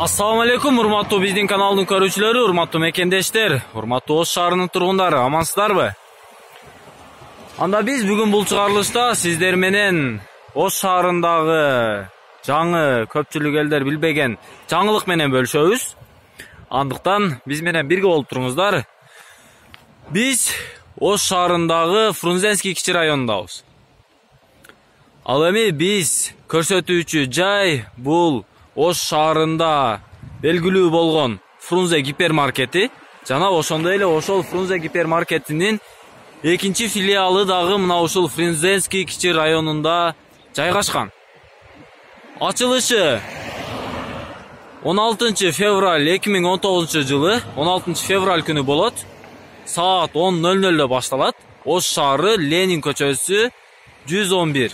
Assalamu alaikum, урматтуу биздин каналдын көрүүчүлөрү, урматтуу мекендештер, урматтуу Ош шаарынын тургундары, амансыздарбы? Анда биз бүгүн бул чыгарылышта сиздер менен Ош шаарындагы жаңы көпчүлүк элдер билбеген жаңылык менен бөлүшөбүз. Андыктан биз менен бирге болуп туруңуздар. Биз Ош шаарындагы Фрунзенский кичи районундабыз. Ал эми биз көрсөтүүчү жай бул Ош шаарында белгилүү болгон Фрунзе гипермаркети жана ошондой эле ошол Фрунзе гипермаркетинин экинчи филиалы дагы мына ушул Фрунзенский кичи районунда жайгашкан. Ачылышы 16 февраль 2019 жылы 16 февраль күнү болот. Саат 10:00 башталат. Ош шаары, Ленин көчөсү 111.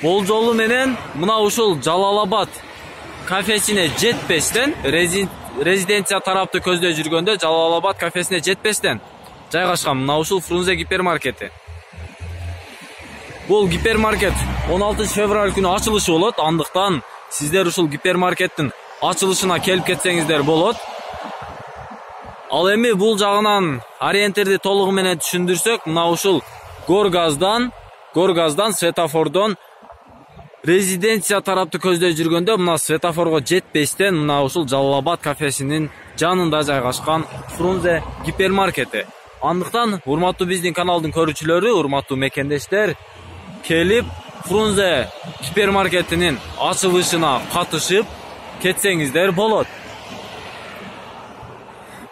Болжолу менен мына ушул Жалал-Абад кафесине жетпестен, резиденция тарапты көздөй жүргөндө Жалал-Абад кафесине жетпестен жайгашкан мына ушул Фрунзе гипермаркети. Бул гипермаркет 16 февраль күнү ачылышы болот. Андыктан сиздер ушул гипермаркеттин ачылышына келип кетсеңиздер болот. Ал эми бул жагынан ориентирди толугу менен түшүндүрсөк, мына ушул Горгаздан светофордон резиденция тарапты көздөй жүргөндө мына светофорго жетпестен мына ушул Жалал-Абад кафесинин жанында жайгашкан Фрунзе гипермаркети. Андыктан урматтуу биздин каналдын көрүүчүлөрү, урматтуу мекендештер, келип Фрунзе гипермаркетинин ачылышына катышып кетсеңиздер болот.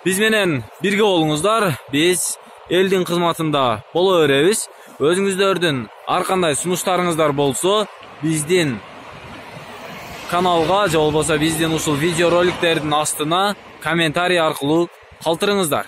Биз менен бирге болуңуздар. Биз элдин кызматында боло беребиз. Өзүңүздөрдүн ар кандай сунуштарыңыздар болсо, биздин каналга же болбосо биздин ушул видео роликтердин астына комментарий аркылуу калтырыңыздар.